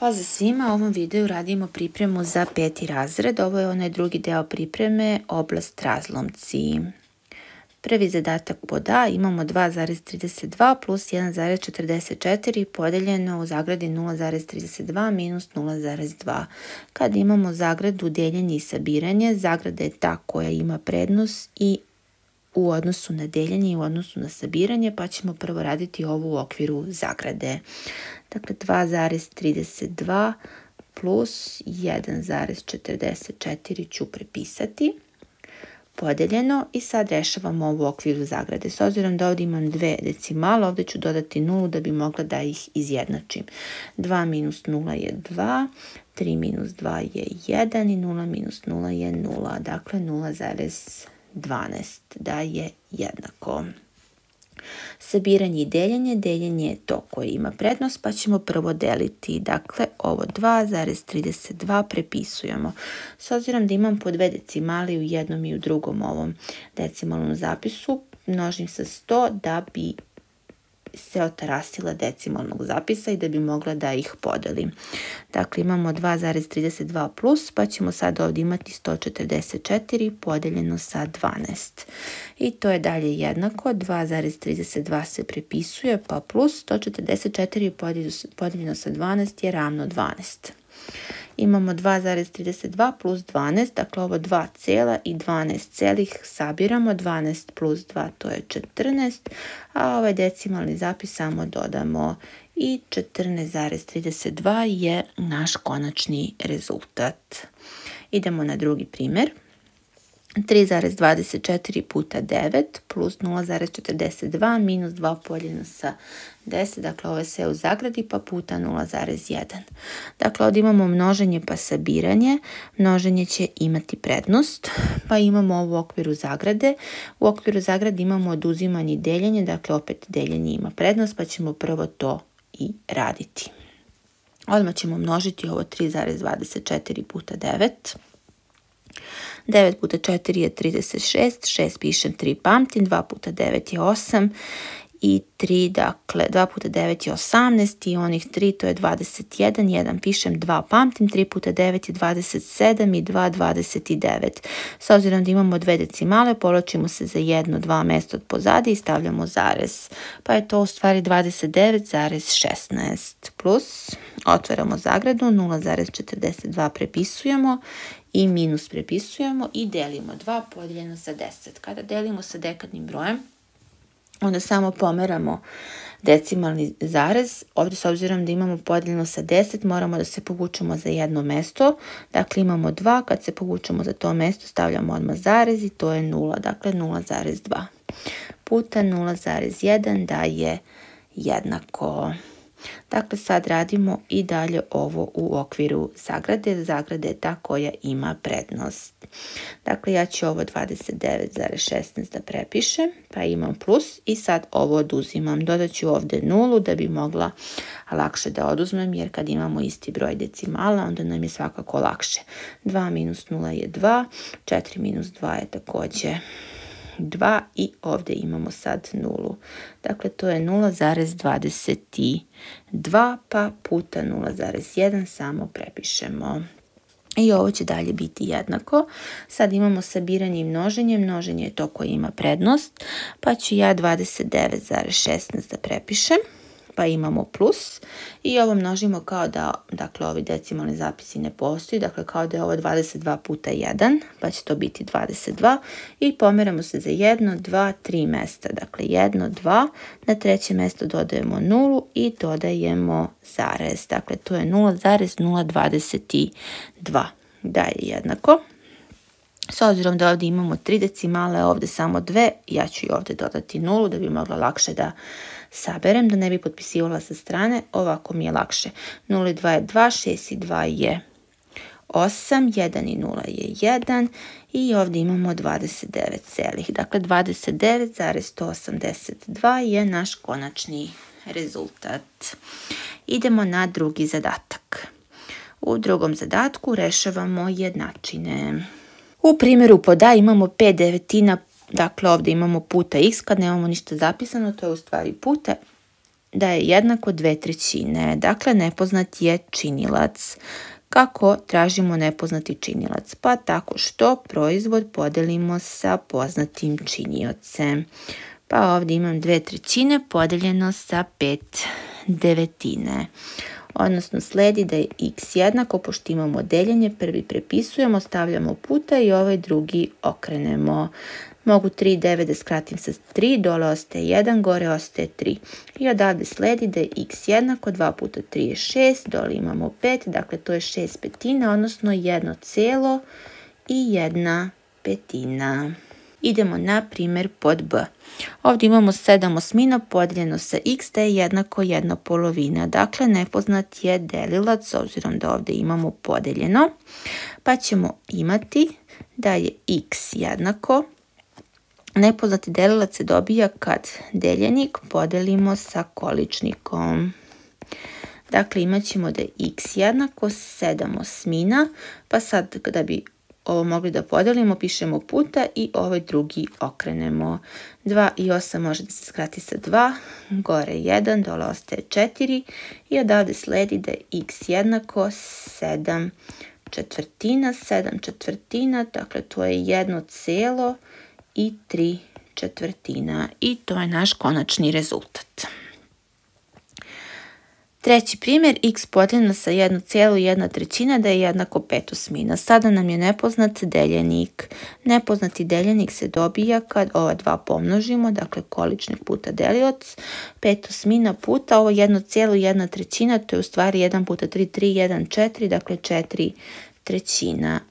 Pozdrav svima, u ovom videu radimo pripremu za 5. razred. Ovo je onaj drugi deo pripreme, oblast razlomci. Prvi zadatak pod A imamo 2,32 plus 1,44 podeljeno u zagradi 0,32 minus 0,2. Kad imamo zagradu deljenje i sabiranje, zagrada je ta koja ima prednost i u odnosu na deljenje i u odnosu na sabiranje, pa ćemo prvo raditi ovo u okviru zagrade. Dakle, 2,32 plus 1,44 ću prepisati, podeljeno, i sad rešavamo ovo u okviru zagrade. S obzirom da ovdje imam dve decimale, ovdje ću dodati 0 da bi mogla da ih izjednačim. 2 minus 0 je 2, 3 minus 2 je 1 i 0 minus 0 je 0, dakle 0,12 da je jednako. Sabiranje i deljenje. Deljenje je to koje ima prednost, pa ćemo prvo deliti. Dakle, ovo 2,32 prepisujemo. S obzirom da imam po dve decimali u jednom i u drugom ovom decimalnom zapisu, množim sa 100 da bi se otarasila decimalnog zapisa i da bi mogla da ih podelim. Dakle, imamo 2,32 plus, pa ćemo sad ovdje imati 144 podeljeno sa 12. I to je dalje jednako, 2,32 se prepisuje, pa plus 144 podeljeno sa 12 je ravno 12. Imamo 2,32 plus 12, dakle ovo 2 cijela i 12 celih sabiramo, 12 plus 2 to je 14, a ovaj decimalni zapis samo dodamo i 14,32 je naš konačni rezultat. Idemo na drugi primjer. 3,24 puta 9 plus 0,42 minus 2 podijeljeno sa 10, dakle ovo je sve u zagradi, pa puta 0,1. Dakle, ovdje imamo množenje pa sabiranje. Množenje će imati prednost, pa imamo ovo u okviru zagrade. U okviru zagrade imamo oduzimanje i deljenje, dakle opet deljenje ima prednost, pa ćemo prvo to i raditi. Odmah ćemo množiti ovo 3,24 puta 9. 9 puta 4 je 36, 6 pišem, 3 pamtim, 2 puta 9 je 8 i 3, dakle 2 puta 9 je 18 i onih 3 to je 21, 1 pišem, 2 pamtim, 3 puta 9 je 27 i 2, 29. S obzirom da imamo dve decimale, povlačimo se za 1, 2 mjesta od pozadi i stavljamo zarez. Pa je to u stvari 29,16 plus, otvaramo zagradu, 0,42 prepisujemo i minus prepisujemo i delimo 2 podijeljeno sa 10. Kada delimo sa dekadnim brojem, onda samo pomeramo decimalni zarez. Ovdje s obzirom da imamo podijeljeno sa 10, moramo da se povučemo za jedno mesto. Dakle, imamo 2, kad se povučemo za to mesto stavljamo odmah zarez i to je 0, dakle 0,2 puta 0,1 daje jednako. Dakle, sad radimo i dalje ovo u okviru zagrade. Zagrada je ta koja ima prednost. Dakle, ja ću ovo 29,16 da prepišem, pa imam plus i sad ovo oduzimam. Dodat ću ovdje 0 da bi mogla lakše da oduzmem, jer kad imamo isti broj decimala, onda nam je svakako lakše. 2 minus 0 je 2, 4 minus 2 je također 2 i ovdje imamo sad 0. Dakle, to je 0,22 pa puta 0,1 samo prepišemo. I ovo će dalje biti jednako. Sad imamo sabiranje i množenje. Množenje je to koje ima prednost, pa ću ja 29,16 da prepišem. Pa imamo plus i ovo množimo kao da, dakle, ovi decimalni zapisi ne postoji, dakle kao da je ovo 22 puta 1, pa će to biti 22 i pomeramo se za 1, 2, 3 mjesta, dakle 1, 2, na treće mjesto dodajemo 0 i dodajemo zarez, dakle to je 0,022, daje jednako. S obzirom da ovdje imamo 3 decimale, ovdje samo 2, ja ću i ovdje dodati 0 da bi mogla lakše da saberem, da ne bi potpisivala sa strane, ovako mi je lakše. 0 i 2 je 2, 6 i 2 je 8, 1 i 0 je 1 i ovdje imamo 29 celih. Dakle, 29,182 je naš konačni rezultat. Idemo na drugi zadatak. U drugom zadatku rešavamo jednačine. U primjeru pod A imamo 5 devetina, dakle ovdje imamo puta x, kad nemamo ništa zapisano, to je u stvari puta da je jednako 2/3. Dakle, nepoznat je činilac. Kako tražimo nepoznati činilac? Pa tako što proizvod podelimo sa poznatim činiocem. Pa ovdje imam 2/3 podeljeno sa 5/9. Odnosno sledi da je x jednako, pošto imamo deljenje, prvi prepisujemo, stavljamo puta i ovaj drugi okrenemo. Mogu 3 i 9 da skratim sa 3, dole ostaje 1, gore ostaje 3. I odavde sledi da je x jednako, 2 puta 3 je 6, dole imamo 5, dakle to je 6/5, odnosno 1,1/5. Idemo na primjer pod b. Ovdje imamo 7/8 podijeljeno sa x da je jednako 1/2. Dakle, nepoznat je delilac, s obzirom da ovdje imamo podeljeno. Pa ćemo imati da je x jednako. Nepoznati delilac se dobija kad deljenik podelimo sa količnikom. Dakle, imat ćemo da je x jednako 7/8, pa sad kada bi ovo mogli da podelimo, pišemo puta i ovaj drugi okrenemo. 2 i 8 može da se skrati sa 2, gore 1, dole ostaje 4 i odavde sledi da je x jednako 7/4. 7/4, dakle to je 1,3/4 i to je naš konačni rezultat. Treći primjer, x podijeljeno sa 1,1/3 da je jednako 5/8. Sada nam je nepoznat deljenik. Nepoznati deljenik se dobija kad ova dva pomnožimo, dakle količnik puta delioc. 5/8 puta ovo 1,1/3, to je u stvari 1 puta 3, 3, 1, 4, dakle 4/3.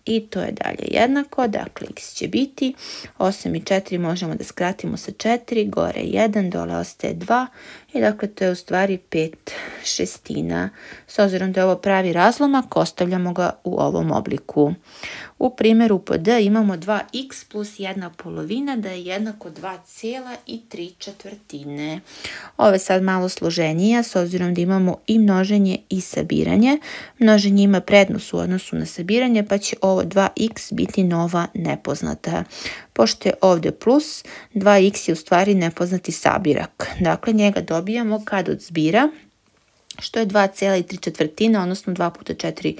I to je dalje jednako, dakle x će biti 8 i 4 možemo da skratimo sa 4, gore 1, dole ostaje 2 i dakle to je u stvari 5/6. S obzirom da je ovo pravi razlomak, ostavljamo ga u ovom obliku. U primjeru pod d imamo 2x plus 1/2 da je jednako 2,3/4. Ovo je sad malo složenija, s obzirom da imamo i množenje i sabiranje. Množenje ima prednost u odnosu na sabiranje, pa će ovo 2x biti nova nepoznata. Pošto je ovdje plus, 2x je u stvari nepoznati sabirak. Dakle, njega dobijamo kad od zbira, što je 2,3/4, odnosno 2 puta 4,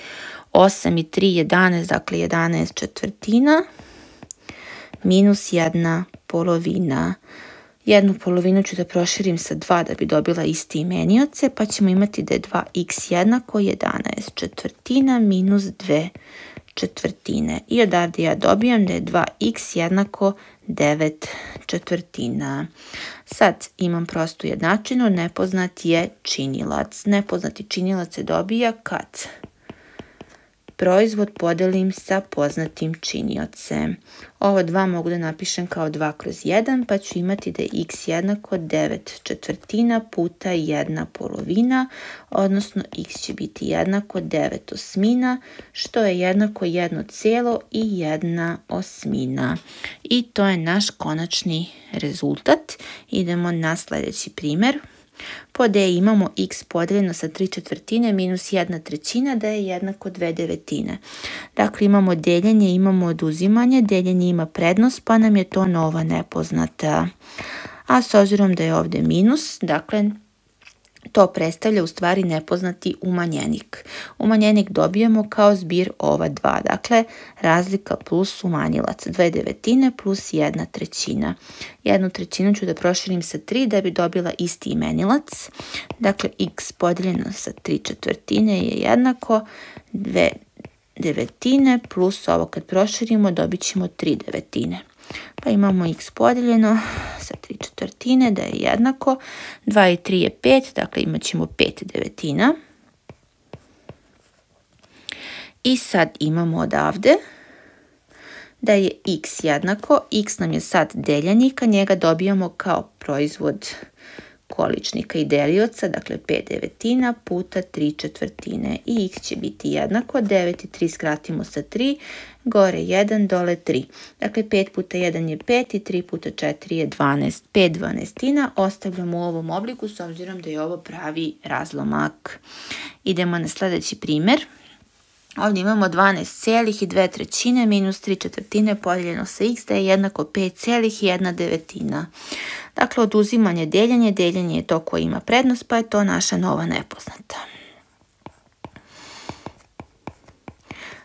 8 i 3, 11, dakle 11/4, minus 1/2. 1/2 ću da proširim sa 2 da bi dobila isti imenioce, pa ćemo imati da je 2x jednako 11/4 minus 2/4. I odavde ja dobijam da je 2x jednako 9/4. Sad imam prostu jednačinu, nepoznat je činilac. Nepoznati činilac se dobija kad proizvod podelim sa poznatim činiocem. Ovo 2 mogu da napišem kao 2/1, pa ću imati da je x jednako 9/4 puta 1/2, odnosno x će biti jednako 9/8, što je jednako 1,1/8. I to je naš konačni rezultat. Idemo na sljedeći primjer. Po d imamo x podijeljeno sa 3/4 minus 1/3 da je jednako 2/9. Dakle, imamo deljenje, imamo oduzimanje. Deljenje ima prednost, pa nam je to nova nepoznata. A s obzirom da je ovdje minus, dakle, to predstavlja u stvari nepoznati umanjenik. Umanjenik dobijemo kao zbir ova dva, dakle razlika plus umanjilac, 2/9 plus 1/3. 1/3 ću da proširim sa 3 da bi dobila isti imenilac, dakle x podijeljeno sa 3/4 je jednako 2/9 plus ovo kad proširimo dobit ćemo 3/9. Pa imamo x podijeljeno sa 3/4 da je jednako 2 i 3 je 5, dakle imat ćemo 5/9. I sad imamo odavde da je x jednako, x nam je sad deljenika, njega dobijamo kao proizvod količnika i delioca, dakle 5/9 puta 3/4 i x će biti jednako, 9 i 3 skratimo sa 3, gore 1, dole 3. Dakle 5 puta 1 je 5 i 3 puta 4 je 12. 5/12 ostavljamo u ovom obliku s obzirom da je ovo pravi razlomak. Idemo na sljedeći primjer. Ovdje imamo 12,2 minus 3/4 podijeljeno sa x da je jednako 5,1. Dakle, oduzimanje deljenje, deljenje je to koje ima prednost, pa je to naša nova nepoznata.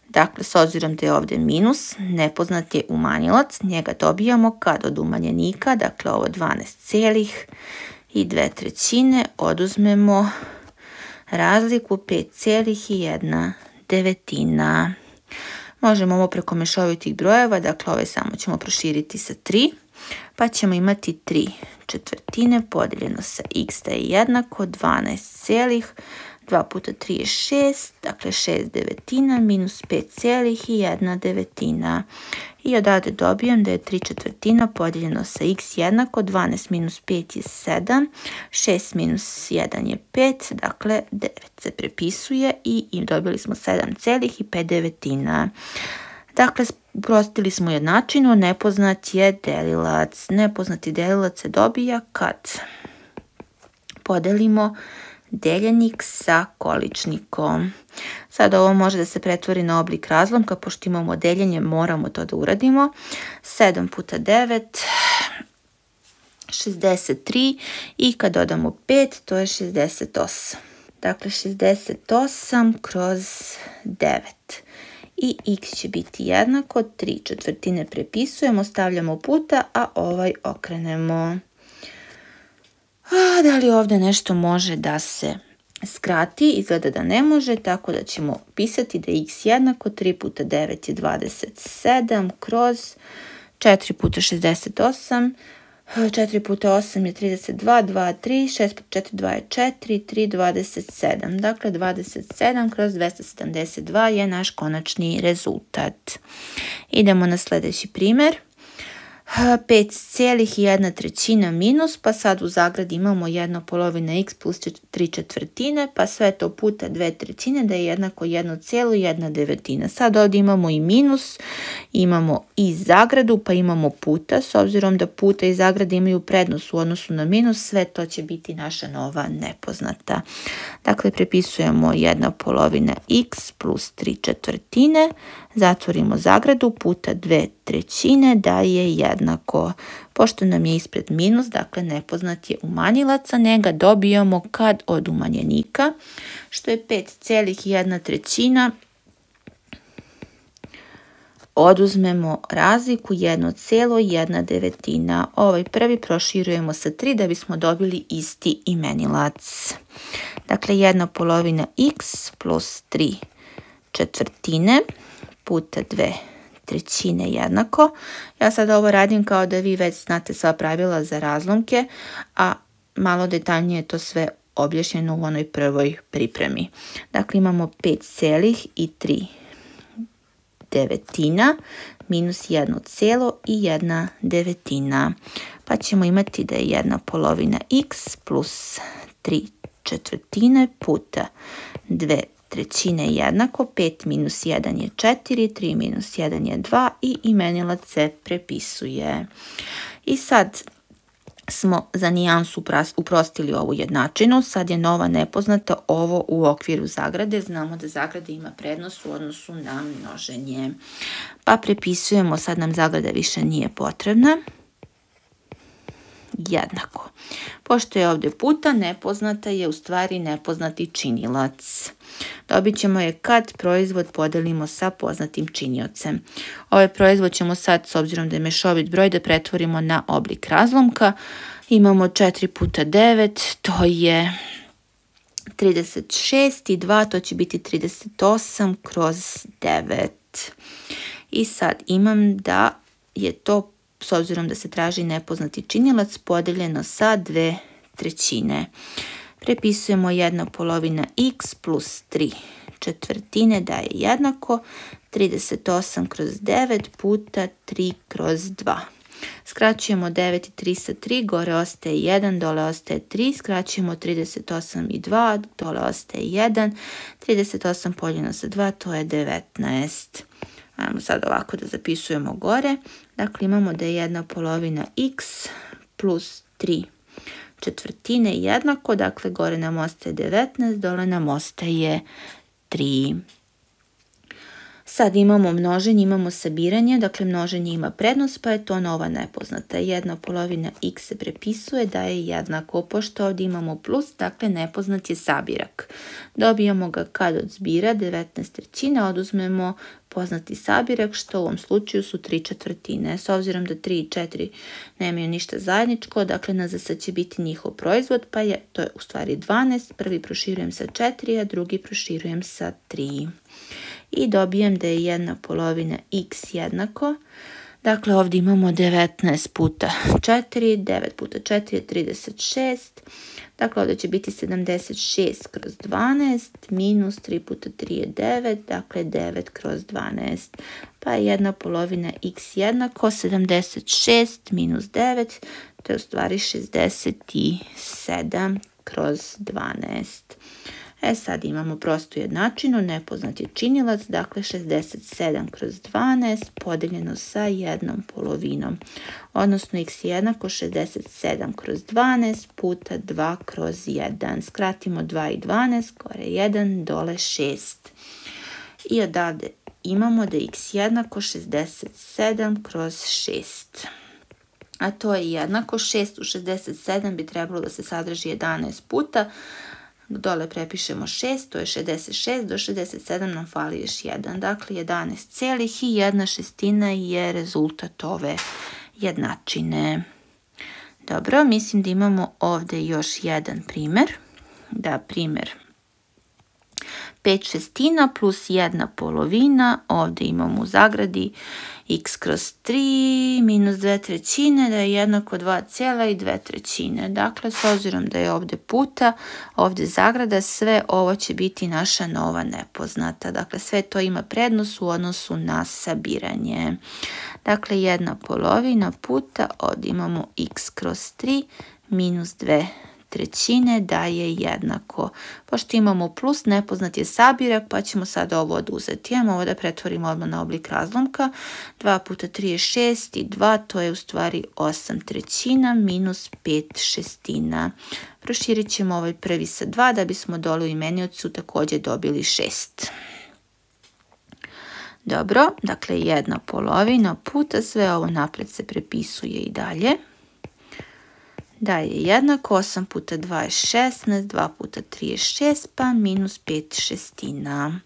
Dakle, s obzirom da je ovdje minus, nepoznat je umanjilac, njega dobijamo kad od umanjenika, dakle ovo 12,2 oduzmemo razliku 5,1. Možemo ovo preko mješovitih brojeva, dakle ove samo ćemo proširiti sa 3, pa ćemo imati 3/4 podijeljeno sa x da je jednako 12, 2 puta 3 je 6, dakle 6/9 minus 5,1. I odavde dobijem da je 3/4 podijeljeno sa x jednako 12 minus 5 je 7, 6 minus 1 je 5, dakle 9 se prepisuje i dobili smo 7,5. Dakle, uprostili smo jednačinu, nepoznat je delilac. Nepoznati delilac se dobija kad podelimo deljenik sa količnikom. Sad ovo može da se pretvori na oblik razlomka, pošto imamo deljenje, moramo to da uradimo. 7 puta 9, 63 i kad dodamo 5, to je 68. Dakle, 68 kroz 9. I x će biti jednako 3/4 prepisujemo, stavljamo puta, a ovaj okrenemo. Da li ovdje nešto može da se skrati? Izgleda da ne može, tako da ćemo pisati da je x jednako 3 puta 9 je 27 kroz 4 puta 68, 4 puta 8 je 32, 2, 3, 6 puta 4, 2 je 4, 3, 27. Dakle, 27 kroz 272 je naš konačni rezultat. Idemo na sljedeći primjer. 5,1 minus, pa sad u zagradi imamo 1/2 x plus 3/4, pa sve to puta 2/3 da je jednako 1,1. Sad ovdje imamo i minus, imamo i zagradu, pa imamo puta. S obzirom da puta i zagrade imaju prednost u odnosu na minus, sve to će biti naša nova nepoznata. Dakle, prepisujemo 1/2 x plus 3/4, zatvorimo zagradu, puta 2/3 da je jednako. Pošto nam je ispred minus, dakle nepoznat je umanjilac, a njega dobijamo kad od umanjenika, što je 5,1. Oduzmemo razliku 1,1. Ovaj prvi proširujemo sa 3 da bismo dobili isti imenilac. Dakle, 1/2 x plus 3/4 puta 2/3 jednako. Ja sad ovo radim kao da vi već znate sva pravila za razlomke, a malo detaljnije to sve objašnjeno u onoj prvoj pripremi. Dakle, imamo 5,3 minus 1,1. Pa ćemo imati da je 1/2 x plus 3/4 puta 2/3 jednako, 5 minus 1 je 4, 3 minus 1 je 2 i imenilac se prepisuje. I sad smo za nijansu uprostili ovu jednačinu, sad je nova nepoznata ovo u okviru zagrade. Znamo da zagrada ima prednost u odnosu na množenje. Pa prepisujemo, sad nam zagrada više nije potrebna. Jednako. Pošto je ovdje puta, nepoznata je u stvari nepoznati činilac. Dobit ćemo je kad proizvod podelimo sa poznatim činiocem. Ovaj proizvod ćemo sad, s obzirom da je mešovit broj, da pretvorimo na oblik razlomka. Imamo 4 puta 9, to je 36 i 2, to će biti 38 kroz 9. I sad imam da je to, s obzirom da se traži nepoznati činilac, podeljeno sa 2/3. Prepisujemo 1/2 x plus 3/4 da je jednako 38 kroz 9 puta 3 kroz 2. Skraćujemo 9 i 3 sa 3, gore ostaje 1, dole ostaje 3, skraćujemo 38 i 2, dole ostaje 1, 38 podijeljeno sa 2, to je 19. Ajmo sad ovako da zapisujemo gore. Dakle, imamo da je 1/2 x plus 3/4 jednako. Dakle, gore nam ostaje 19, dole nam ostaje 3. Sad imamo množenje, imamo sabiranje, dakle množenje ima prednost, pa je to nova nepoznata. 1/2 x se prepisuje da je jednako, pošto ovdje imamo plus, dakle nepoznat je sabirak. Dobijamo ga kad od zbira 19/3, oduzmemo poznati sabirak, što u ovom slučaju su 3/4. S obzirom da 3 i 4 nemaju ništa zajedničko, dakle na za sad će biti njihov proizvod, pa je to u stvari 12, prvi proširujem sa 4, a drugi proširujem sa 3. I dobijem da je 1/2 x jednako, dakle ovdje imamo 19 puta 4, 9 puta 4 je 36, dakle ovdje će biti 76/12 minus 3 puta 3 je 9, dakle 9/12, pa je 1/2 x jednako 76 minus 9, to je u stvari 67/12. Sad imamo prostu jednačinu, nepoznat je činilac, dakle 67/12 podijeljeno sa 1/2, odnosno x je jednako 67/12 puta 2/1. Skratimo 2 i 12, gore 1, dole 6. I odavde imamo da je x jednako 67/6. A to je jednako 6 u 67 bi trebalo da se sadrži 11 puta. Dole prepišemo 6, to je 66, do 67 nam fali još 1, dakle 11,1/6 je rezultat ove jednačine. Dobro, mislim da imamo ovdje još jedan primjer. Da, primjer 5/6 plus 1/2, ovdje imamo u zagradi x/3 minus 2/3 da je jednako 2,2. Dakle, s obzirom da je ovdje puta, ovdje zagrada, sve ovo će biti naša nova nepoznata. Dakle, sve to ima prednost u odnosu na sabiranje. Dakle, 1/2 puta, ovdje imamo x/3 minus 2/3 da je jednako. Pošto imamo plus, nepoznat je sabirak, pa ćemo sad ovo oduzeti. Ajmo ovo da pretvorimo odmah na oblik razlomka. 2 puta 3 je 6 i 2, to je u stvari 8/3 minus 5/6. Proširit ćemo ovaj prvi sa 2 da bismo dole u imeniocu također dobili 6. Dobro, dakle 1/2 puta, sve ovo napred se prepisuje i dalje. Da je jednako 8 puta 2 je 16, 2 puta 3 je 6, pa minus 5/6.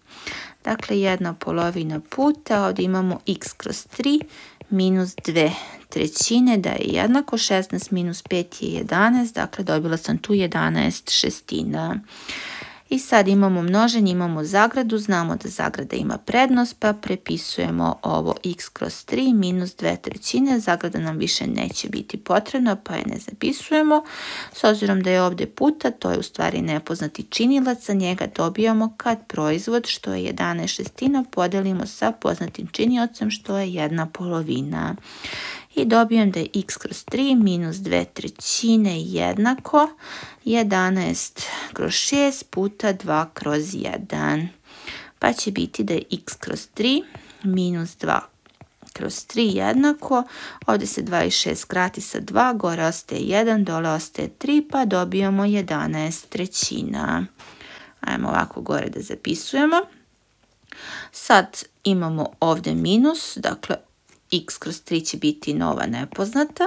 Dakle, 1/2 puta, ovdje imamo x/3 minus 2/3 da je jednako 16 minus 5 je 11, dakle dobila sam tu 11/6. I sad imamo množenje, imamo zagradu, znamo da zagrada ima prednost, pa prepisujemo ovo x/3 minus 2/3. Zagrada nam više neće biti potrebna, pa je ne zapisujemo. S obzirom da je ovdje puta, to je u stvari nepoznati činilac, za njega dobijamo kad proizvod, što je 11/6, podelimo sa poznatim činiocem, što je 1/2. I dobijem da je x/3 minus 2/3 jednako 11/6 puta 2/1. Pa će biti da je x/3 minus 2/3 jednako. Ovdje se 2 i 6 skrati sa 2, gore ostaje 1, dole ostaje 3, pa dobijamo 11/3. Ajmo ovako gore da zapisujemo. Sad imamo ovdje minus, dakle x/3 će biti nova nepoznata.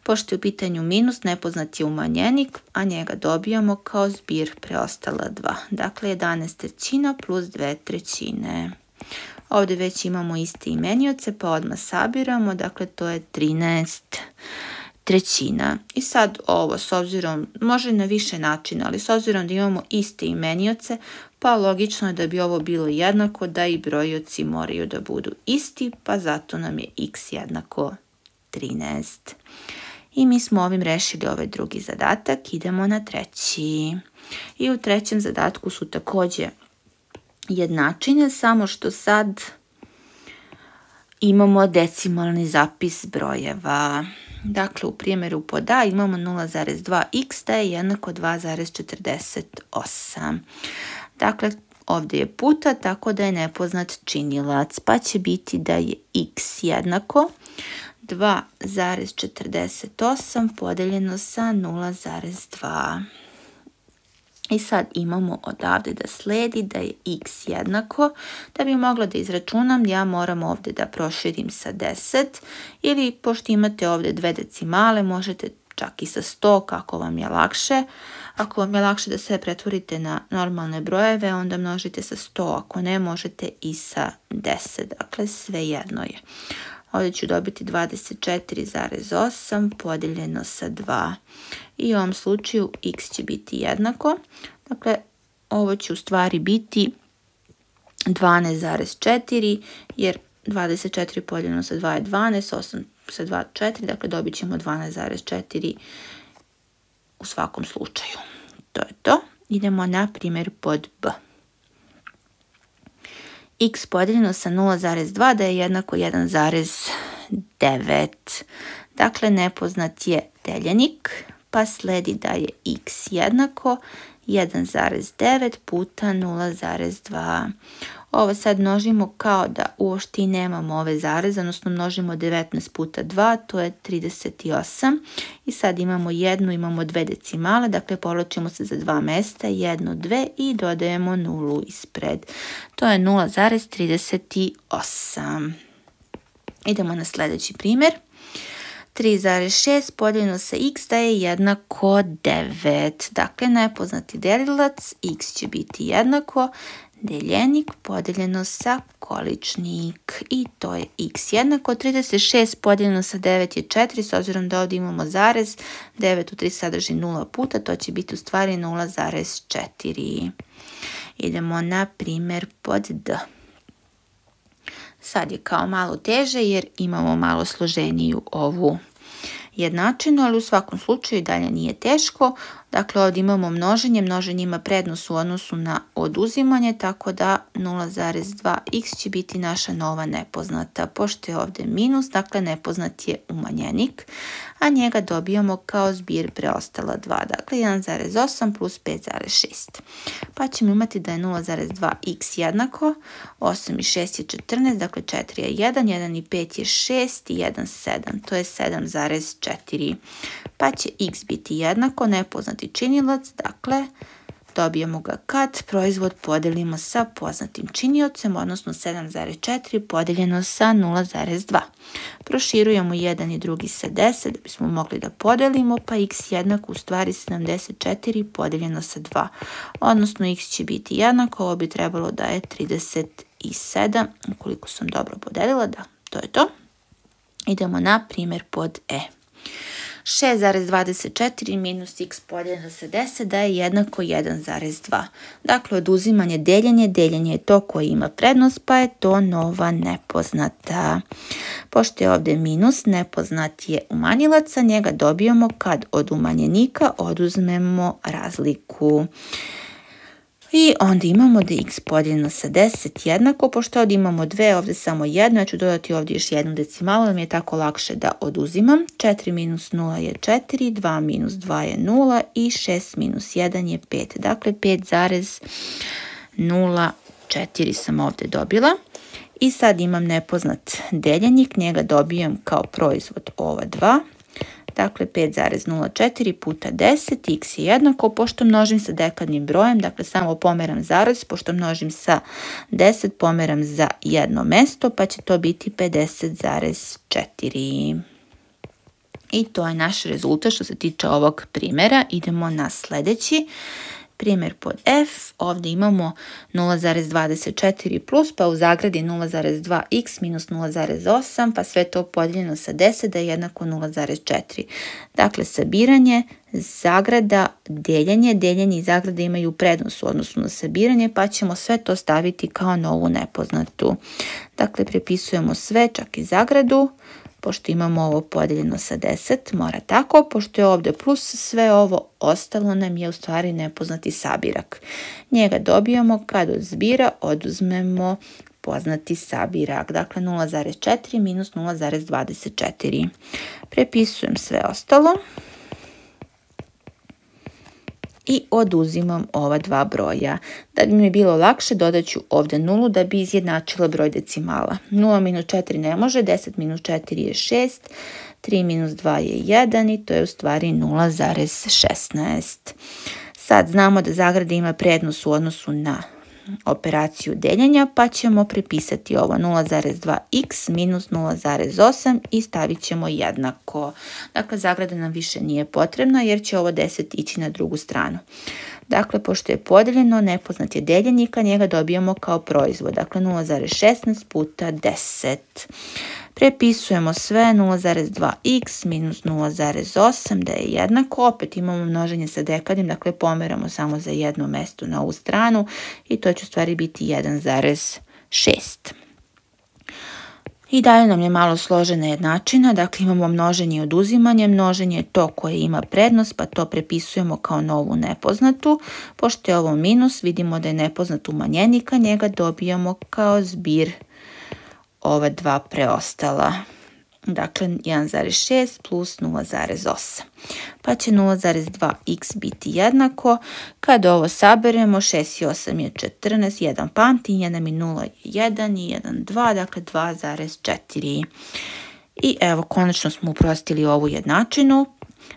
Pošto je u pitanju minus, nepoznat je umanjenik, a njega dobijamo kao zbir preostala 2. Dakle, 11/3 plus 2/3. Ovdje već imamo iste imenioce, pa odmah sabiramo, dakle to je 13/3. I sad ovo, s obzirom, može na više načina, ali s obzirom da imamo iste imenioce, pa logično je da bi ovo bilo jednako, da i brojioci moraju da budu isti, pa zato nam je x jednako 13. I mi smo ovim rešili ovaj drugi zadatak, idemo na treći. I u trećem zadatku su također jednačine, samo što sad imamo decimalni zapis brojeva. Dakle, u primjeru pod A imamo 0,2x da je jednako 2,48. Dakle, ovdje je puta, tako da je nepoznat činilac, pa će biti da je x jednako 2,48 podeljeno sa 0,2. I sad imamo odavde da sledi da je x jednako. Da bi mogla da izračunam, ja moram ovde da proširim sa 10 ili pošto imate ovde dve decimale, možete čak i sa 100 kako vam je lakše. Ako vam je lakše da sve pretvorite na normalne brojeve, onda množite sa 100. Ako ne, možete i sa 10. Dakle, sve jedno je. Ovdje ću dobiti 24,8 podijeljeno sa 2. I u ovom slučaju x će biti jednako. Dakle, ovo će u stvari biti 12,4 jer 24 podijeljeno sa 2 je 12, 8 sa 2 4, dakle dobit ćemo 12,4 u svakom slučaju. To je to. Idemo na primjer pod b. X podijeljeno sa 0,2 da je jednako 1,9. Dakle, nepoznat je deljenik, pa sledi da je x jednako 1,9 puta 0,2. Ovo sad množimo kao da uopšte i nemamo ove zareze, odnosno množimo 19 puta 2, to je 38. I sad imamo jednu, imamo dve decimale, dakle povlačimo se za dva mesta, 1, 2 i dodajemo nulu ispred. To je 0,38. Idemo na sljedeći primjer. 3,6 podijeljeno sa x da je jednako 9. Dakle, nepoznati delilac, x će biti jednako deljenik podijeljeno sa količnik i to je x jednako. 36 podijeljeno sa 9 je 4, s obzirom da ovdje imamo zarez, 9 u 3 sadrži 0 puta, to će biti u stvari 0,4. Idemo na primjer pod d. Sad je kao malo teže jer imamo malo složeniju ovu jednačinu, ali u svakom slučaju dalje nije teško. Dakle, ovdje imamo množenje, množenje ima prednost u odnosu na oduzimanje, tako da 0,2x će biti naša nova nepoznata. Pošto je ovdje minus, dakle nepoznat je umanjenik, a njega dobijamo kao zbir preostala 2, dakle 1,8 plus 5,6. Pa ćemo imati da je 0,2x jednako, 8 i 6 je 14, dakle 4 je 1, 1 i 5 je 6 i 1, 7, to je 7,4. Pa će x biti jednako nepoznati činilac, dakle dobijemo ga kad proizvod podelimo sa poznatim činiocem, odnosno 7,4 podeljeno sa 0,2. Proširujemo jedan i drugi sa 10 da bismo mogli da podelimo, pa x jednako u stvari 74 podeljeno sa 2, odnosno x će biti jednako, ovo bi trebalo da je 37, ukoliko sam dobro podelila, da, to je to. Idemo na primjer pod e. 6,24 minus x podijeljeno sa 10 da je jednako 1,2. Dakle, oduzimanje deljenje, deljenje je to koje ima prednost, pa je to nova nepoznata. Pošto je ovdje minus, nepoznat je umanjilac, a njega dobijamo kad od umanjenika oduzmemo razliku. I onda imamo da je x podijeljeno sa 10 jednako, pošto ovdje imamo dve, ovdje samo jedno, ja ću dodati ovdje još jednu decimalu, da mi je tako lakše da oduzimam. 4 minus 0 je 4, 2 minus 2 je 0 i 6 minus 1 je 5. Dakle, 5,04 sam ovdje dobila. I sad imam nepoznat deljenik, njega dobijam kao proizvod ova dva. Dakle, 5,04 puta 10, x je jednako, pošto množim sa dekadnim brojem, dakle samo pomeram zarez, pošto množim sa 10, pomeram za jedno mesto, pa će to biti 50,4. I to je naš rezultat što se tiče ovog primjera. Idemo na sljedeći. Primjer pod f, ovdje imamo 0,24 plus, pa u zagradi 0,2x minus 0,8, pa sve to podijeljeno sa 10 da je jednako 0,4. Dakle, sabiranje, zagrada, deljenje, deljenje i zagrada imaju prednost u odnosu na sabiranje, pa ćemo sve to staviti kao novu nepoznatu. Dakle, prepisujemo sve, čak i zagradu. Pošto imamo ovo podijeljeno sa 10, mora tako, pošto je ovdje plus, sve ovo ostalo nam je u stvari nepoznati sabirak. Njega dobijamo kad od zbira oduzmemo poznati sabirak, dakle 0,4 minus 0,24. Prepisujem sve ostalo i oduzimam ova dva broja. Da bi mi bilo lakše, dodat ću ovdje nulu da bi izjednačila broj decimala. 0 minus 4 ne može, 10 minus 4 je 6, 3 minus 2 je 1 i to je u stvari 0,16. Sad znamo da zagrada ima prednost u odnosu na operaciju deljenja, pa ćemo prepisati ovo 0,2x minus 0,8 i stavit ćemo jednako. Dakle, zagrada nam više nije potrebna jer će ovo 10 ići na drugu stranu. Dakle, pošto je podeljeno, nepoznat je deljenik, a njega dobijamo kao proizvod. Dakle, 0,16 puta 10. Prepisujemo sve 0,2x minus 0,8 da je jednako. Opet imamo množenje sa dekadnim, dakle pomeramo samo za jedno mesto na ovu stranu i to će u stvari biti 1,6. I dalje nam je malo složena jednačina, dakle imamo množenje i oduzimanje. Množenje je to koje ima prednost, pa to prepisujemo kao novu nepoznatu. Pošto je ovo minus, vidimo da je nepoznat umanjenik, a njega dobijamo kao zbir ova dva preostala. Dakle, 1,6 plus 0,8. Pa će 0,2x biti jednako. Kada ovo saberemo, 6 i 8 je 14, 1 pamti, 1 i 0 je 1 i 1, 2, dakle 2,4. I evo, konačno smo uprostili ovu jednačinu.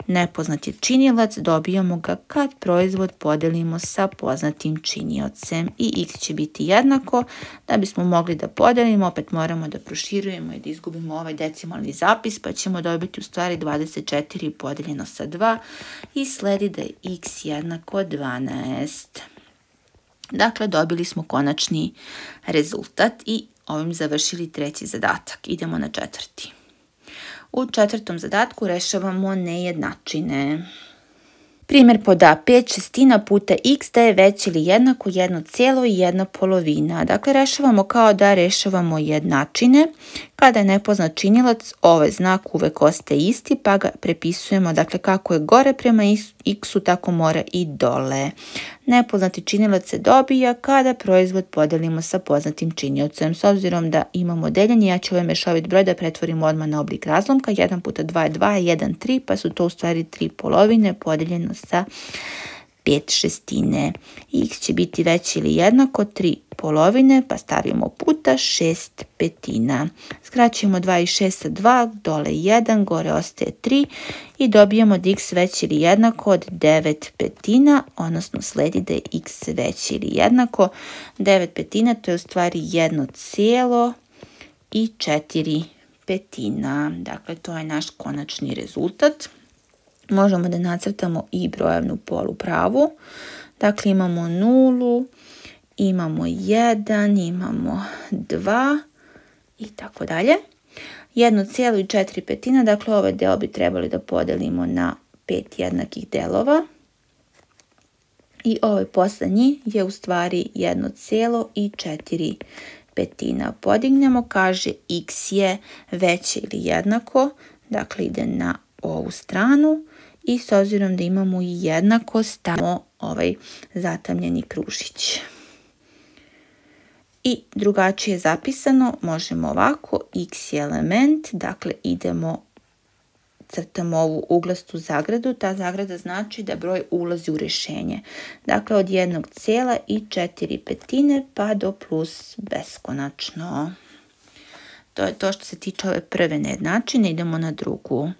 Nepoznat je činilac, dobijamo ga kad proizvod podelimo sa poznatim činiocem i x će biti jednako. Da bismo mogli da podelimo, opet moramo da proširujemo i da izgubimo ovaj decimalni zapis, pa ćemo dobiti u stvari 24 podeljeno sa 2 i sledi da je x jednako 12. Dakle, dobili smo konačni rezultat i ovim završili treći zadatak. Idemo na četvrti. U četvrtom zadatku rešavamo nejednačine. Primjer pod A, 5/6 puta x da je veće ili jednako 1 i 1/2. Dakle, rešavamo kao da rešavamo jednačine. Kada je nepoznat činilac, ovaj znak uvek ostaje isti, pa ga prepisujemo, dakle, kako je gore prema x-u, tako mora i dole. Nepoznati činilac se dobija kada proizvod podelimo sa poznatim činiocem. S obzirom da imamo deljenje, ja ću ovaj mešovit broj da pretvorim odmah na oblik razlomka. 1 puta 2 je 2, 1, 3, pa su to u stvari 3 polovine podeljeno sa 5/6. X će biti veće ili jednako 3 polovine, pa stavimo puta 6/5. Skraćujemo 2 i 6 sa 2, dole 1, gore ostaje 3 i dobijamo da x veće ili jednako od 9/5, odnosno sledi da je x veće ili jednako 9/5, to je u stvari 1,4. Dakle, to je naš konačni rezultat. Možemo da nacrtamo i brojevnu polupravu. Dakle, imamo 0, imamo 1, imamo 2 i tako dalje. 1,4, dakle ovaj deo bi trebali da podelimo na 5 jednakih delova. I ovaj poslednji je u stvari 1,4. Podignemo, kaže x je veće ili jednako, dakle ide na ovu stranu i s obzirom da imamo i jednako stavimo ovaj zatamljeni kružić. I drugačije zapisano možemo ovako, x je element, dakle crtamo ovu uglastu zagradu, ta zagrada znači da broj ulazi u rešenje. Dakle, od 1,4 pa do plus beskonačno. To je to što se tiče ove prve nejednačine, idemo na drugu.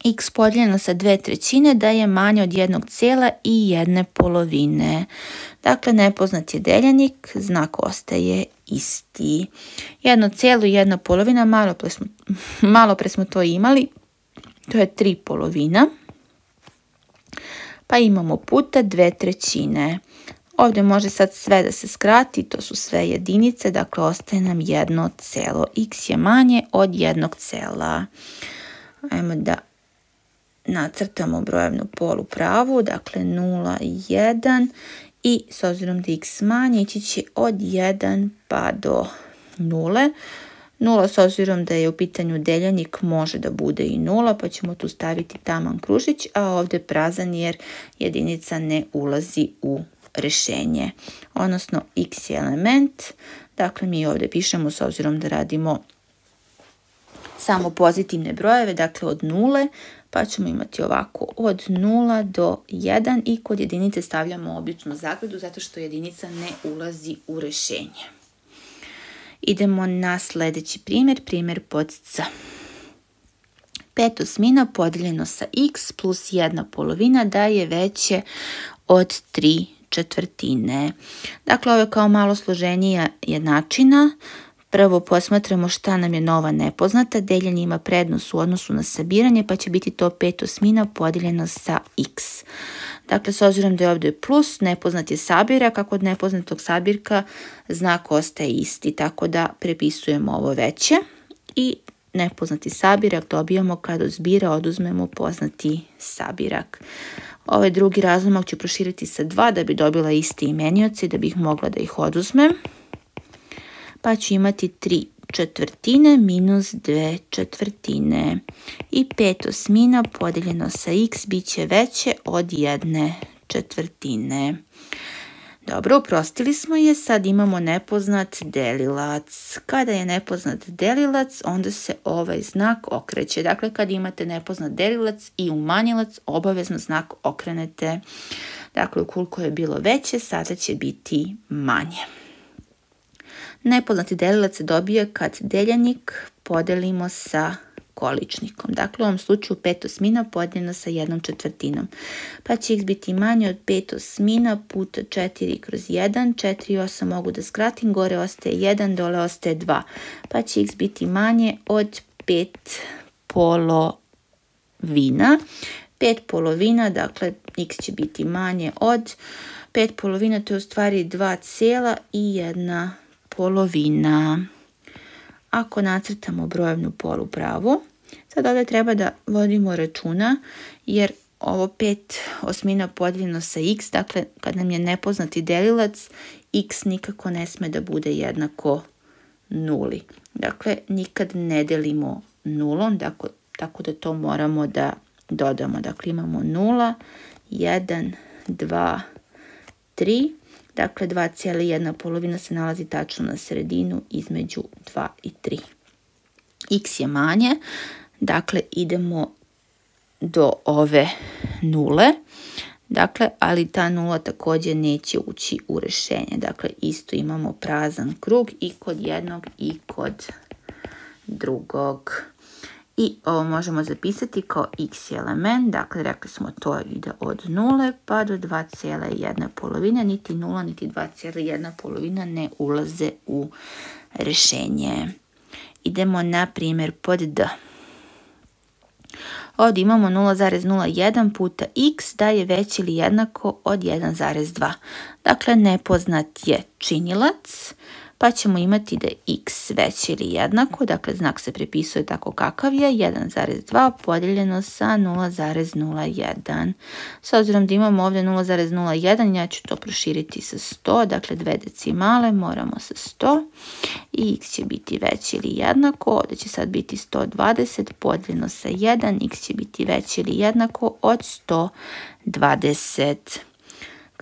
X podijeljeno sa 2/3 da je manje od 1,1/2. Dakle, nepoznat je deljenik, znak ostaje isti. 1,1/2, malo pre smo to imali, to je 3/2. Pa imamo puta 2/3. Ovdje može sad sve da se skrati, to su sve jedinice, dakle ostaje nam 1 x je manje od 1. Ajmo da nacrtamo brojevnu polupravu, dakle 0 i 1 i s obzirom da x manje ići će od 1 pa do 0. 0 s obzirom da je u pitanju deljenik može da bude i 0, pa ćemo tu staviti taman kružić, a ovdje prazan jer jedinica ne ulazi u rešenje. Odnosno x je element, dakle mi ovdje pišemo s obzirom da radimo samo pozitivne brojeve, dakle od 0, pa ćemo imati ovako od 0 do 1 i kod jedinice stavljamo običnu zagradu zato što jedinica ne ulazi u rešenje. Idemo na sljedeći primjer, primjer pod C. 5/8 podijeljeno sa x plus 1/2 da je veće od 3/4. Dakle, ovo je kao malo složenija jednačina. Prvo posmatramo šta nam je nova nepoznata. Deljenje ima prednost u odnosu na sabiranje, pa će biti to 5/8 podijeljeno sa x. Dakle, s obzirom da je ovdje plus, nepoznat je sabirak, a kod nepoznatog sabirka znak ostaje isti, tako da prepisujemo ovo veće i nepoznati sabirak dobijamo kad od zbira oduzmemo poznati sabirak. Ovaj drugi razlomak ću proširiti sa 2 da bi dobila isti imenioci, da bih mogla da ih oduzmem. Pa ću imati 3/4 minus 2/4 i 5/8 podijeljeno sa x bit će veće od 1/4. Dobro, uprostili smo je, sad imamo nepoznat delilac. Kada je nepoznat delilac, onda se ovaj znak okreće. Dakle, kad imate nepoznat delilac i umanjilac, obavezno znak okrenete. Dakle, ukoliko je bilo veće, sada će biti manje. Nepoznati delilac se dobija kad deljenik podelimo sa količnikom. Dakle, u ovom slučaju 5/8 podijeljeno sa 1/4. Pa će x biti manje od 5/8 puta 4/1. 4 i 8 mogu da skratim, gore ostaje 1, dole ostaje 2. Pa će x biti manje od 5/2. 5/2, dakle, x će biti manje od 5/2, to je u stvari 2,1/2. Ako nacrtamo brojevnu polupravu, sad ovdje treba da vodimo računa jer ovo 5/8 podijeljeno sa x, dakle kad nam je nepoznati delilac, x nikako ne sme da bude jednako 0. Dakle, nikad ne delimo 0, tako da to moramo da dodamo. Dakle, imamo 0, 1, 2, 3. Dakle, 2,1/2 se nalazi tačno na sredinu između 2 i 3. X je manje, dakle idemo do ove 0. Dakle, ali ta 0 također neće ući u rješenje. Dakle, isto imamo prazan krug i kod jednog i kod drugog. I ovo možemo zapisati kao x je element, dakle rekli smo to ide od 0 pa do 2,1/2, niti 0 niti 2,1/2 ne ulaze u rješenje. Idemo na primjer pod D. Ovdje imamo 0,01 puta x da je veće ili jednako od 1,2. Dakle, nepoznat je činilac, pa ćemo imati da je x veće ili jednako, dakle znak se prepisuje tako kakav je, 1,2 podijeljeno sa 0,01. S obzirom da imamo ovdje 0,01, ja ću to proširiti sa 100, dakle 2 decimale, moramo sa 100 i x će biti veće ili jednako, ovdje će sad biti 120 podijeljeno sa 1, x će biti veće ili jednako od 120.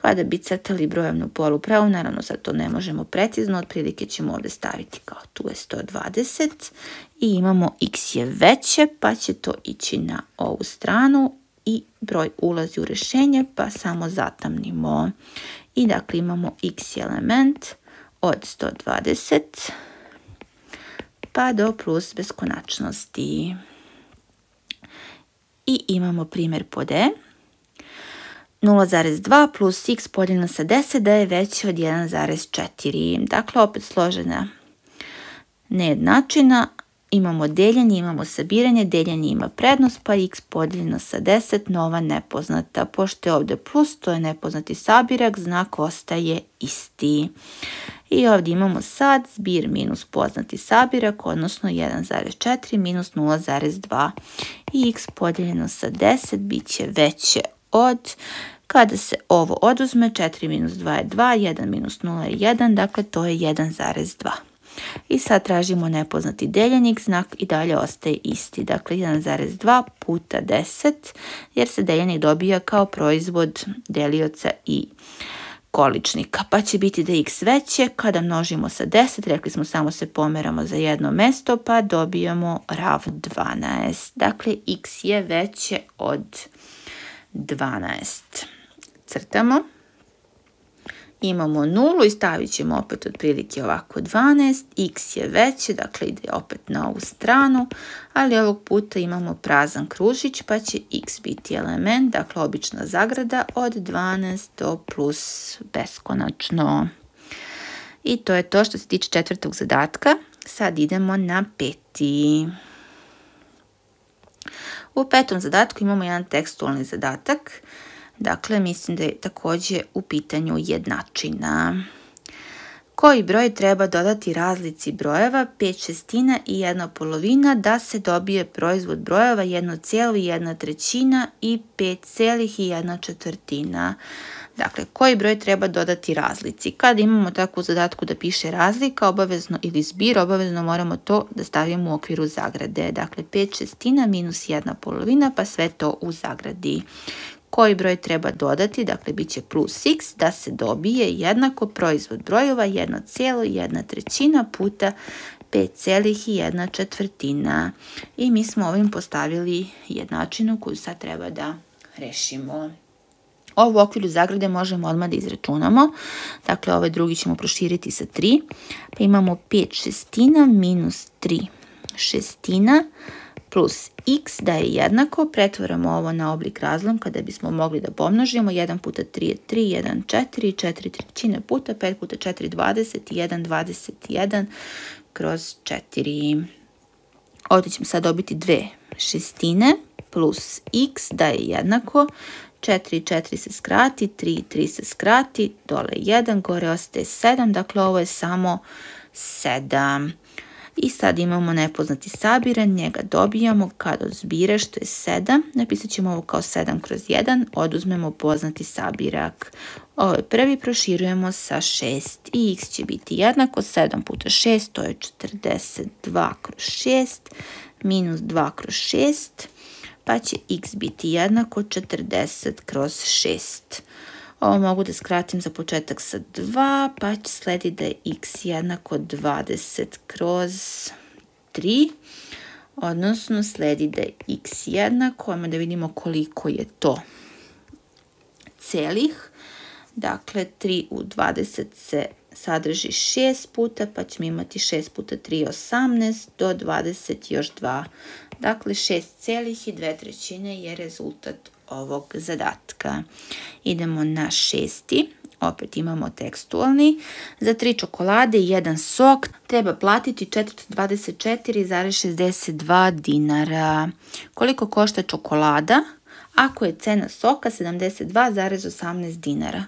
Kada bi crtali brojevnu polupravu, naravno sad to ne možemo precizno, otprilike ćemo ovdje staviti kao tu je 120 i imamo x je veće, pa će to ići na ovu stranu i broj ulazi u rješenje, pa samo zatamnimo. I dakle imamo x je element od 120 pa do plus beskonačnosti. I imamo primjer pod E. 0,2 plus x podijeljeno sa 10 da je veće od 1,4. Dakle, opet složena nejednačina. Imamo deljenje, imamo sabiranje, deljenje ima prednost, pa x podijeljeno sa 10, nova nepoznata. Pošto je ovdje plus, to je nepoznati sabirak, znak ostaje isti. I ovdje imamo sad zbir minus poznati sabirak, odnosno 1,4 minus 0,2. I x podijeljeno sa 10 bit će veće od, kada se ovo oduzme, 4 minus 2 je 2, 1 minus 0 je 1, dakle to je 1,2. I sad tražimo nepoznati deljenik, znak i dalje ostaje isti, dakle 1,2 puta 10, jer se deljenik dobija kao proizvod delioca i količnika. Pa će biti da je x veće, kada množimo sa 10, rekli smo samo se pomeramo za jedno mesto, pa dobijamo rav 12. Dakle, x je veće od 12. Crtamo imamo 0 i stavit ćemo opet otprilike ovako 12, x je veće, dakle ide opet na ovu stranu, ali ovog puta imamo prazan kružić pa će x biti element, dakle obična zagrada od 12 do plus beskonačno. I to je to što se tiče četvrtog zadatka. Sad idemo na peti. U petom zadatku imamo jedan tekstualni zadatak. Dakle, mislim da je također u pitanju jednačina. Koji broj treba dodati razlici brojeva 5/6 i 1/2 da se dobije proizvod brojeva 1,1/3 i 5,1/4? Dakle, koji broj treba dodati razlici? Kada imamo takvu zadatku da piše razlika, obavezno ili zbir, obavezno moramo to da stavimo u okviru zagrade. Dakle, 5/6 minus 1/2, pa sve to u zagradi. Koji broj treba dodati, dakle bit će plus x, da se dobije jednako proizvod brojeva 1,1/3 puta 5,1/4. I mi smo ovim postavili jednačinu koju sad treba da rešimo. Ovo u okviru zagrade možemo odmah da izračunamo. Dakle, ovaj drugi ćemo proširiti sa 3. Pa imamo 5/6 minus 3/6 plus x da je jednako, pretvaramo ovo na oblik razlomka da bismo mogli da pomnožimo. 1 puta 3 je 3, 1, 4, 4/3 puta 5 puta 4, 20 i 1, 21 kroz 4. Ovdje ćemo sad dobiti 2/6 plus x da je jednako. 4 4 se skrati, 3 3 se skrati, dole 1, gore ostaje 7, dakle ovo je samo 7. I sad imamo nepoznati sabiran, njega dobijamo kad od zbira što je 7, napisat ćemo ovo kao 7 kroz 1, oduzmemo poznati sabirak. Ovo je prvi, proširujemo sa 6 i x će biti jednako 7 puta 6, to je 42 kroz 6, minus 2 kroz 6, pa će x biti jednako 40 kroz 6. Ovo mogu da skratim za početak sa 2, pa će slediti da je x jednako 20 kroz 3, odnosno sledi da je x jednako, ajmo da vidimo koliko je to celih. Dakle, 3 u 20 se sadrži 6 puta, pa ćemo imati 6 puta 3 18, do 20 još 2. Dakle, 6,2 je rezultat ovog zadatka. Idemo na šesti. Opet imamo tekstualni. Za 3 čokolade i 1 sok treba platiti 424,62 dinara. Koliko košta čokolada ako je cena soka 72,18 dinara?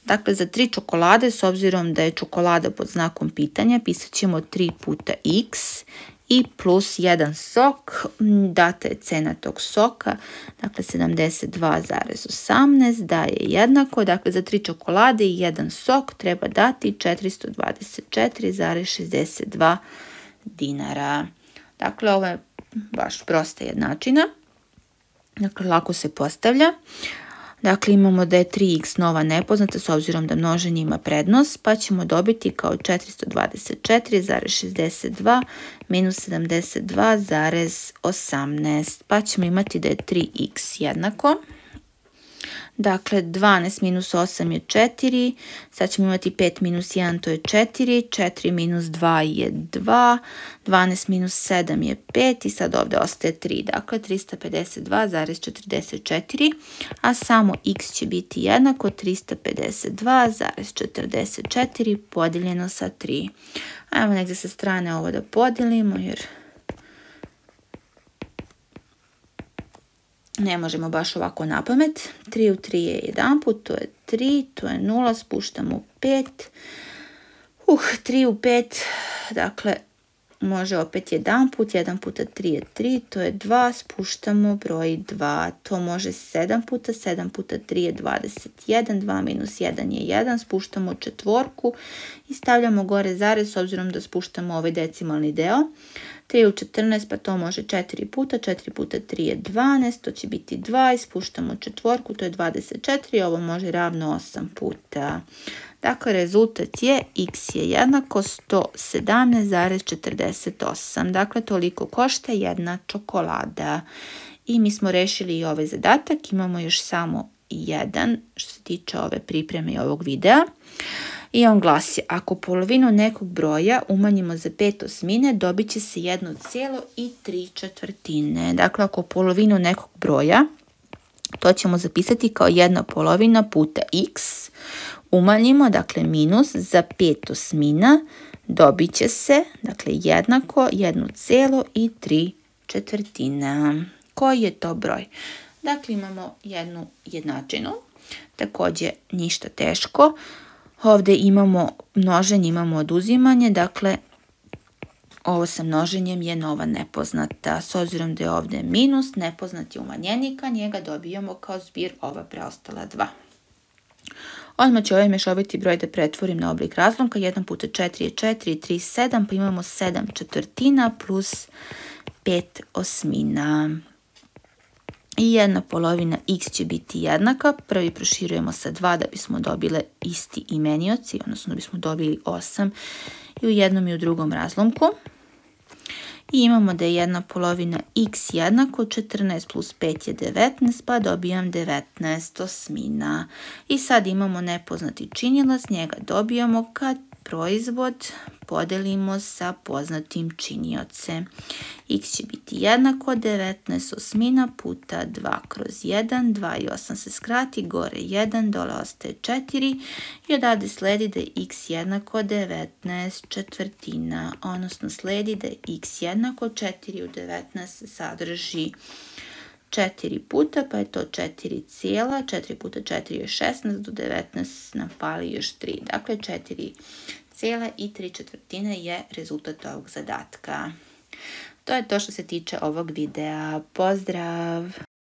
Dakle, za 3 čokolade, s obzirom da je čokolada pod znakom pitanja, pisat ćemo 3 puta x i plus 1 sok, data je cena tog soka, dakle 72,18 daje jednako, dakle za 3 čokolade i 1 sok treba dati 424,62 dinara. Dakle, ovo je baš prosta jednačina, dakle lako se postavlja. Dakle, imamo da je 3x nova nepoznata s obzirom da množenje ima prednost, pa ćemo dobiti kao 424,62 minus 72,18, pa ćemo imati da je 3x jednako. Dakle, 12 minus 8 je 4, sad ćemo imati 5 minus 1, to je 4, 4 minus 2 je 2, 12 minus 7 je 5 i sad ovdje ostaje 3, dakle 352,44, a samo x će biti jednako 352,44 podijeljeno sa 3. Ajmo negdje sa strane ovo da podijelimo jer ne možemo baš ovako na pamet. 3 u 3 je 1 put, to je 3, to je 0, spuštamo 5. 3 u 5, dakle, može opet 1 put, 1 puta 3 je 3, to je 2, spuštamo broj 2. To može 7 puta, 7 puta 3 je 21, 2 minus 1 je 1, spuštamo četvorku i stavljamo gore zarez s obzirom da spuštamo ovaj decimalni deo. 3 u 14, pa to može 4 puta, 4 puta 3 je 12, to će biti 2 i spuštamo četvorku, to je 24, ovo može ravno 8 puta. Dakle, rezultat je x je jednako 117,48. Dakle, toliko košta jedna čokolada. I mi smo rešili i ovaj zadatak, imamo još samo 1 što se tiče ove pripreme i ovog videa. I on glasi, ako polovinu nekog broja umanjimo za 5/8, dobit će se 1,3/4. Dakle, ako polovinu nekog broja, to ćemo zapisati kao 1/2 puta x, umanjimo, dakle minus za 5/8, dobit će se, dakle, jednako 1,3/4. Koji je to broj? Dakle, imamo jednu jednačinu, također ništa teško. Ovdje imamo množenje, imamo oduzimanje, dakle, ovo sa množenjem je nova nepoznata. S obzirom da je ovdje minus, nepoznat je umanjenik, a njega dobijamo kao zbir ova preostala 2. Odmah ću ovaj mješoviti broj da pretvorim na oblik razlomka. 1 puta 4 je 4, 3, 7, pa imamo 7/4 plus 5/8. I 1/2 x će biti jednaka. Prvi proširujemo sa 2 da bismo dobili isti imenioci, odnosno da bismo dobili 8 i u jednom i u drugom razlomku. I imamo da je 1/2 x jednako 14 plus 5 je 19, pa dobijam 19/8. I sad imamo nepoznati činilac, njega dobijamo kad proizvod podelimo sa poznatim činiocem. X će biti jednako 19/8 puta 2/1, 2 i 8 se skrati, gore 1, dole ostaje 4 i odavde sledi da je x jednako 19/4, odnosno sledi da je x jednako 4 u 19 se sadrži 4 puta, pa je to 4 cijela, 4 puta 4 je 16, do 19 nam fali još 3, dakle 4,3/4 je rezultat ovog zadatka. To je to što se tiče ovog videa. Pozdrav!